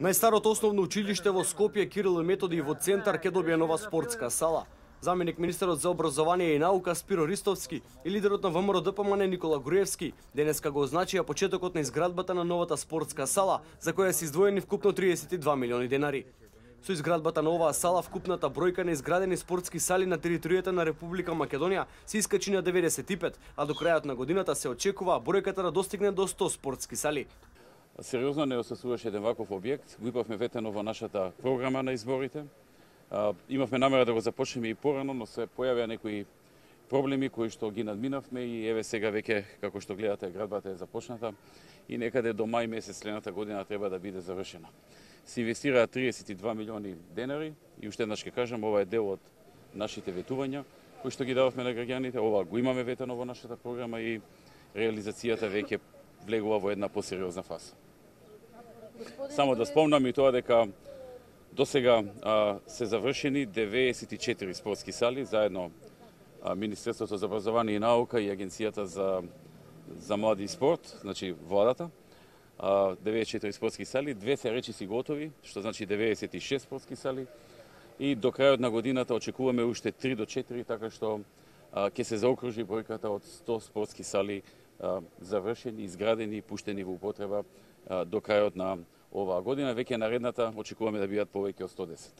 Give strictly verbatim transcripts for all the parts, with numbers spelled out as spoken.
Најстарото основно училиште во Скопје Кирил и Методи во центар ќе добие нова спортска сала. Заменик министерот за образование и наука Спиро Ристовски и лидерот на ВМРО Д П М Н Никола Груевски денеска го означија почетокот на изградбата на новата спортска сала, за која се издвоени вкупно триесет и два милиони денари. Со изградбата на оваа сала вкупната бројка на изградени спортски сали на територијата на Република Македонија се искачи на деветдесет и пет, а до крајот на годината се очекува бројката да достигне до сто спортски сали. Сериозно не осослуваше еден ваков објект, го имавме ветено во нашата програма на изборите. Имавме намера да го започнеме и порано, но се појавија некои проблеми кои што ги надминавме и еве сега веќе, како што гледате, градбата е започната и некаде до мај месец следната година треба да биде завршена. Се инвестираа триесет и два милиони денари и уште еднаш ќе кажам, ова е дел од нашите ветувања кои што ги дававме на граѓаните, ова го имаме ветено во нашата програма и реализацијата веќе влегува во една посериозна фаза. Само да спомнам и тоа дека до сега се завршени деветдесет и четири спортски сали, заедно а, Министерството за образование и наука и Агенцијата за, за млади и спорт, значи владата, а, деветдесет и четири спортски сали, две се речиси готови, што значи деветдесет и шест спортски сали, и до крајот на годината очекуваме уште три до четири, така што а, ќе се заокружи бројката од сто спортски сали а, завршени, изградени и пуштени во употреба а, до крајот на оваа година. Веќе наредната очекуваме да бидат повеќе од сто десет.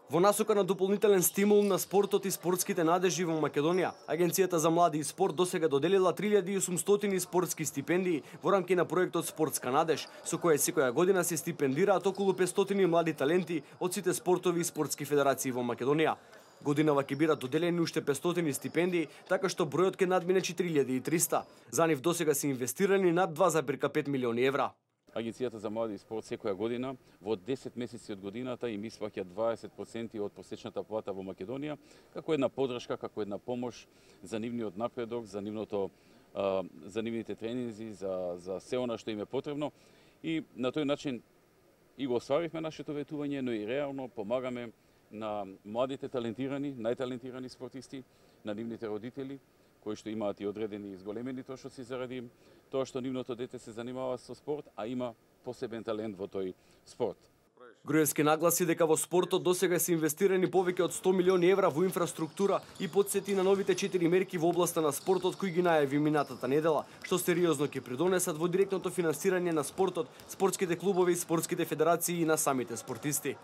Во насока на дополнителен стимул на спортот и спортските надежи во Македонија, Агенцијата за млади и спорт досега доделила три илјади и осумстотини спортски стипендии во рамки на проектот Спортска надеж, со која секоја година се стипендираат околу петстотини млади таленти од сите спортови и спортски федерации во Македонија. Годинава ќе бидат доделени уште петстотини стипендии, така што бројот ќе надмине четири илјади и триста. За нив досега се инвестирани над два зарез пет милиони евра. Агенцијата за млади и спорт секоја година во десет месеци од годината им испаќа дваесет проценти од просечната плата во Македонија, како една поддршка, како една помош за нивниот напредок, за нивното за нивните тренинзи, за за се она што им е потребно и на тој начин и го остваривме нашето ветување, но и реално помагаме на младите талентирани, најталентирани спортисти, на нивните родители, кои што имаат и одредени изголемени трошоци заради тоа што нивното дете се занимава со спорт, а има посебен талент во тој спорт. Груевски нагласи дека во спортот досега се инвестирани повеќе од сто милиони евра во инфраструктура и потсети на новите четири мерки во областа на спортот кои ги најави минатата недела, што сериозно ќе придонесат во директното финансирање на спортот, спортските клубови, спортските федерации и на самите спортисти.